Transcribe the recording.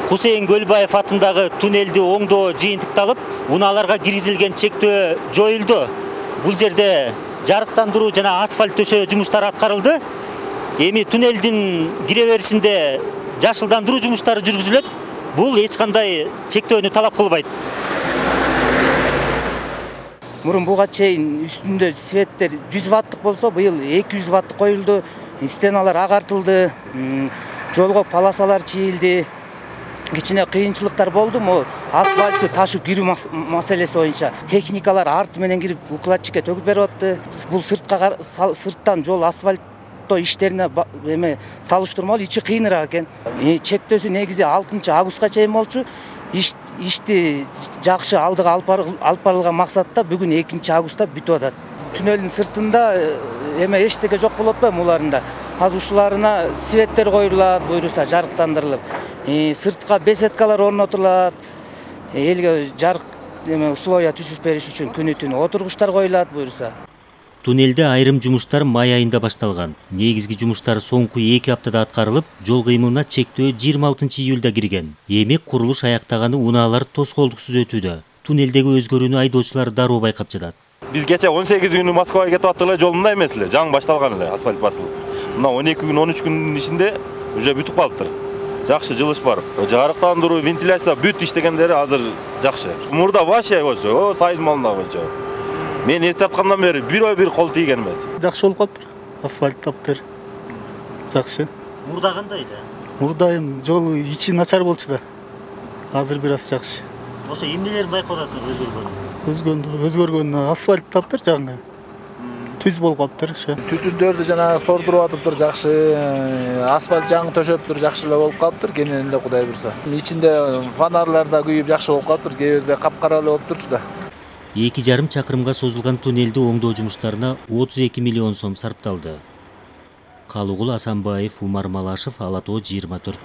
Хусейн Көлбаев атындагы туннелди оңдоо жыйынтыкталып, унааларга киргизилген чектөө жоюлду. Бул жерде жарыктандыруу жана асфальт төшөө жумуштары аткарылды. Эми туннелдин кире беришинде жашылдандыруу жумуштары жүргүзүлөт. Бул эч кандай чектөөнү талап кылбайт. Мурун буга чейин үстүндө светтер 100 ваттык болсо, быйыл 200 ваттык коюлду. Стеналар агартылды, жолго полосалар чийилди. Кичине кыйынчылыктар болду, асфальтты ташып кирүү маселеси боюнча техникалар арт менен кирип укладчикке төгүп берип атты. Бул сырттан жол асфальттоо иштерине салыштырмалуу ичи кыйыныраак экен. Чектөөсү негизи 6 августка чейин болчу. Ишти жакшы алдыга алып барылган максатта бүгүн 2 августта бүтүп атат. Туннелдин сыртында эчтеке жок болот атпайбы уларында. Азыр ушуларына светтер коюлат, буюрса жарыктандырылып. Сыртка беседкалар орнотулат. Элге жарык условия түзүп бериш үчүн күнү түнү отургучтар коюлат, буюрса. Туннелде айрым жумуштар май айында башталган. Негизги жумуштар соңку 2 аптада аткарылып, жол кыймылына чектөө 26 июлда кирген. Эми курулуш аяктаганы унаалар тоскоолдуксуз өтүүдө. Туннелдеги өзгөрүүнү айдоочулар дароо байкап жатат. Биз кече 18 күнү Москвага кетип аттык эле, жол мындай эмес эле, жаңы башталган эле, асфальт басылып. Мына 12 күн, 13 күндүн ичинде уже бүтүп калыптыр. Жакшы жылыш бар. Жарыктандыруу, вентиляция бүт иштегендери азыр жакшы. Мурда вообще болчу, сайыз малында болчу. Мен эстаткандан бери бир кол тийген эмес. Жакшы болуп калыптыр. Асфальт таптыр. Жакшы. Мурда кандай эле? Мурда жол ичи начар болчу да. Азыр бир аз жакшы. Ошо эмнелерин байкап атасың өзгөргөн асфальт таптыр жаңы. Түз болуп калыптыр. Түтүндөрдү жана сордуруп атыптыр, жакшы. Асфальт жаңы төшөптүр, жакшы эле болуп калыптыр, кенен эле Кудай буйрса. Ичинде фонарлар да күйүп жакшы болуп калыптыр, кээ бирде капкара эле болуп турчу да. 2,5 чакырымга созулган туннелди оңдоо жумуштарына 32 миллион сом сарпталды. Калыгул Асанбаев, Умар Малашев, Ала Тоо 24.